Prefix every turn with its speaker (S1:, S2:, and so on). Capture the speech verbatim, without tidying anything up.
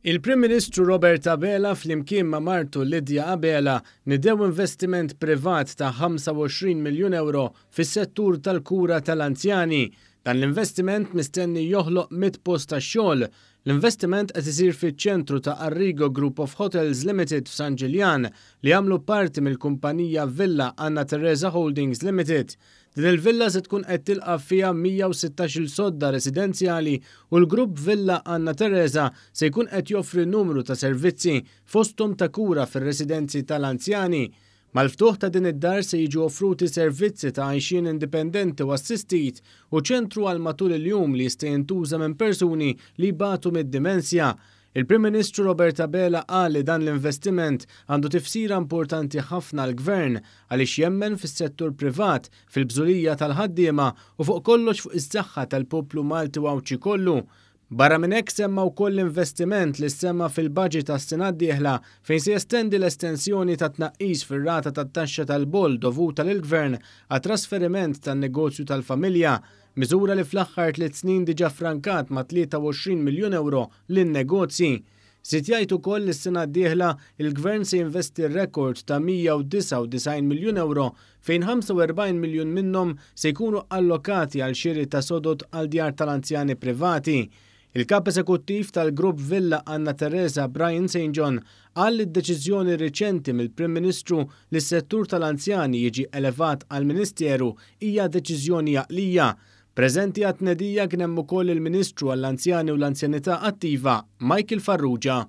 S1: Il-Prim Ministru Robert Abela flimkien ma' martu Lydia Abela nidew investiment privat ta' ħamsa u għoxrin miljun euro fis-settur tal-kura tal-anzjani. Dan l-investiment mistenni joħloq mitt post ta' xogħol. L-investiment qed isir fiċ-ċentru ta' Arrigo Group of Hotels Limited f'San Ġiljan, li jagħmlu parti mill-kumpanija Villa Anna Teresa Holdings Limited. Din il-villa se tkun qed tilqa' fiha mija u sittax-il sodda residenzjali u l-grupp Villa Anna Teresa se jkun qed joffri numru ta' servizzi, fosthom ta' kura fir-residenzi tal-anzjani. Mal-ftuħ ta' din id-dar se jiġu offruti servizzi ta' għajxien indipendenti u assistit u ċentru għal matul il-jum li jista' jintuża minn persuni li jbatu mid-dimensja. Il-Prim Ministru Robert Abela qal li dan l-investiment għandu tifsira importanti ħafna għall-gvern għaliex jemmen fis-settur privat, fil-bżulija tal-ħaddiema u fuq kollox fuq is-saħħa tal-poplu Malti u Għawdxi kollu. Barra minn hekk, semma wkoll l-investiment li semma fil-budget tas-sena d-dieħla, fejn se jestendi l-estensjoni ta' tnaqqis fir-rata tat-taxxa tal-boll dovuta lill-gvern għat-trasferiment tan-negozju tal-familja, miżura li fl-aħħar tliet snin diġà frankat ma' tlieta u għoxrin miljun euro lin-negozji. Żied jgħid ukoll li s-sena d-dieħla il-gvern se jinvesti rekord ta' mija u disgħa u disgħin miljun euro, fejn ħamsa u erbgħin miljun minnhom se jkunu allokati għal xiri ta' sodod għal djar tal-anzjani privati. Il-kap eżekuttiv tal-grupp Villa Anna Teresa, Brian Saint John, qal li d-deċiżjoni riċenti mill-Prim Ministru li s-settur tal-anzjani jiġi elevat għal Ministeru hija deċiżjoni għaqlija. Preżenti għat-tnedija kien hemm ukoll il-Ministru għall-Anzjani u l-Anzjanità Attiva, Michael Farrugia.